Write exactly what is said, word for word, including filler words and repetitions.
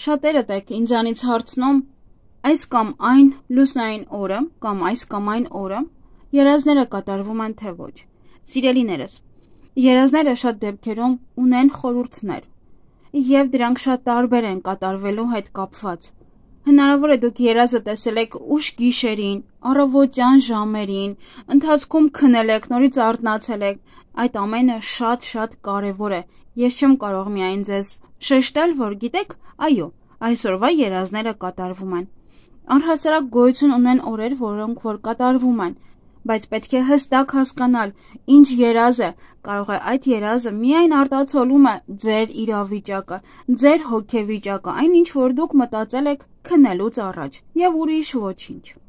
Շատերդ եք ինձանից հարցնում այս կամ այն լուսնային օրը կամ այս կամ այն օրը երազները կատարվում են թե ոչ։ Սիրելիներս, երազները շատ դեպքերում ունեն խորհուրդներ, եւ դրանք շատ տարբեր են կատարվելու հետ կապված։ Հնարավոր է դուք երազը տեսել եք ուշ գիշերին, առավոտյան ժամերին, ընթացքում քնել եք, նորից արթնացել եք, այդ ամենը շատ-շատ կարևոր է։ Ես չեմ կարող միայն ձեզ շեշտել, որ գիտեք, այո, այսօրվա երազները կատարվում են։ Առհասարակ գոյություն ունեն օրեր, որոնք որ կատարվում են, բայց պետք է հստակ հասկանալ, ինչ երազ է, կարող է այդ երազը միայն արտացոլում է ձեր իրավիճակը, ձեր հոգեվիճակը, այն ինչ որ դուք մտածել եք քնելուց առաջ, եւ ուրիշ ոչինչ։